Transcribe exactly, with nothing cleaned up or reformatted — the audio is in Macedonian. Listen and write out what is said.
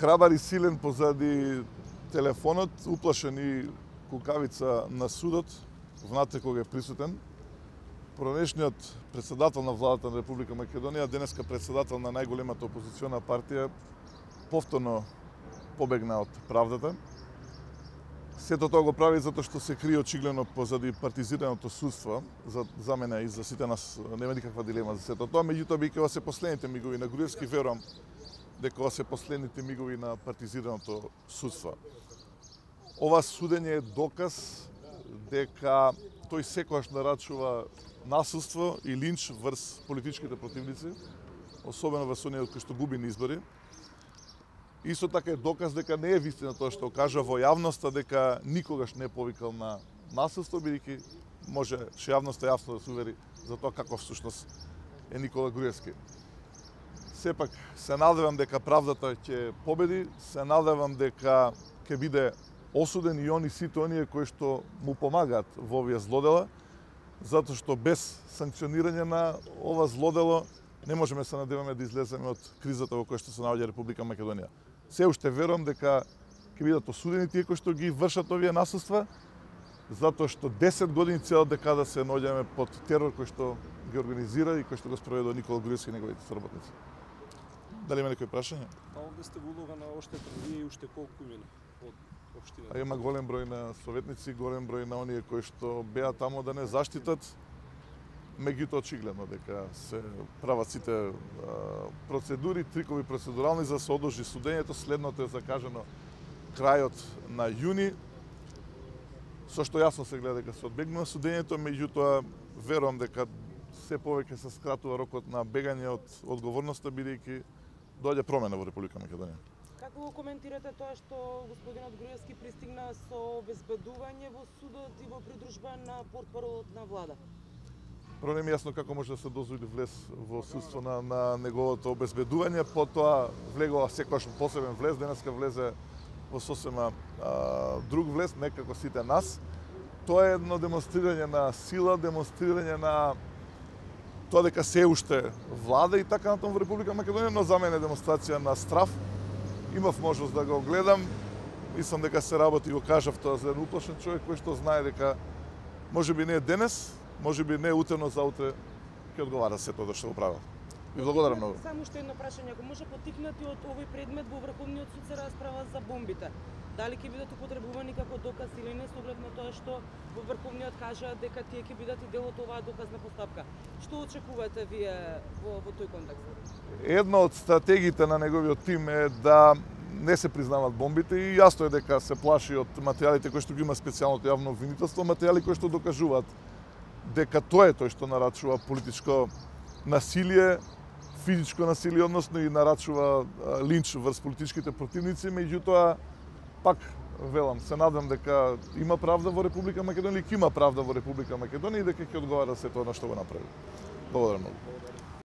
храбар и силен позади телефонот, уплашен и кукавица на судот, внатре кога е присутен. Поранешниот председател на владата на Република Македонија, денеска председател на најголемата опозициона партија, повторно побегна од правдата. Сето тоа го прави затоа што се крие очигледно позади партизираното судство. За, за мене и за сите нас нема никаква дилема за сето тоа, меѓутоа бидејќи ова се последните мигови на Груевски, верувам дека ова се последните мигови на партизираното судство. Ова судење е доказ дека тој секогаш нарачува насилство и линч врз политичките противници, особено во оние кои што губи на избори. Исто така е доказ дека не е вистина тоа што кажа во јавноста, дека никогаш не е повикал на насилство, бидејќи може што јавноста јасно да се увери за тоа каков всушност е Никола Груевски. Сепак се надевам дека правдата ќе победи, се надевам дека ќе биде осуден и они сите оние кои што му помагаат во овие злодела, затоа што без санкционирање на ова злодело не можеме се надеваме да излеземе од кризата во која што се наоѓа Република Македонија. Се уште верувам дека ќе бидат осудени тие кои што ги вршат овие насилства, затоа што десет години цела декада се наоѓаме под терор кој што ги организира и кој што го спроведува Никола Груевски и неговите соработници. Дали има некои прашања? А овде сте во улога на оштета, вие и уште колку мина од општината? А има голем број на советници, голем број на оние кои што беа таму да не заштитат, меѓутоа очигледно дека се прават сите а, процедури, трикови процедурални за да се одложи судењето. Следното е закажано крајот на јуни, со што јасно се гледа дека се одбегнува судењето, меѓутоа верувам дека се повеќе се скратува рокот на бегање од одговорноста, бидејќи доаѓа промена во Република Македонија. Како го коментирате тоа што господинот Груевски пристигна со обезбедување во судот и во придружба на портпаролот на влада? Прво не ми јасно како може да се дозволи влез во судство на, на неговото обезбедување, потоа влегува секогаш посебен влез, денеска влезе во сосема а, друг влез, не како сите нас. Тоа е едно демонстрирање на сила, демонстрирање на тоа дека се уште влада и така натаму во Република Македонија, но за мене е демонстрација на страв. Имав можност да го гледам, мислам дека се работи, го кажав тоа за еден уплашен човек кој што знае дека можеби не е денес, можеби не е утре, но заутре ќе одговара се тоа што го правил. Ви благодарам многу. Само уште едно прашање, ако може поттикнати од овој предмет во Врховниот суд се расправа за бомбите. Дали ќе бидат употребувани како доказ или не, со оглед на тоа што во Врховниот кажа дека тие ќе бидат и дел од оваа доказна постапка. Што очекувате вие во, во тој контекст? Една од стратегиите на неговиот тим е да не се признават бомбите и јасно е дека се плаши од материјалите кои што ги има специјалното јавно обвинителство, материјали кои што докажуваат дека тоа е тој што нарачува политичко насилие, физичко насилие, односно и нарачува линч врз политичките противници, меѓутоа пак велам, се надам дека има правда во Република Македонија, ќе има правда во Република Македонија и дека ќе одговара се тоа на што го направи. Благодарам многу.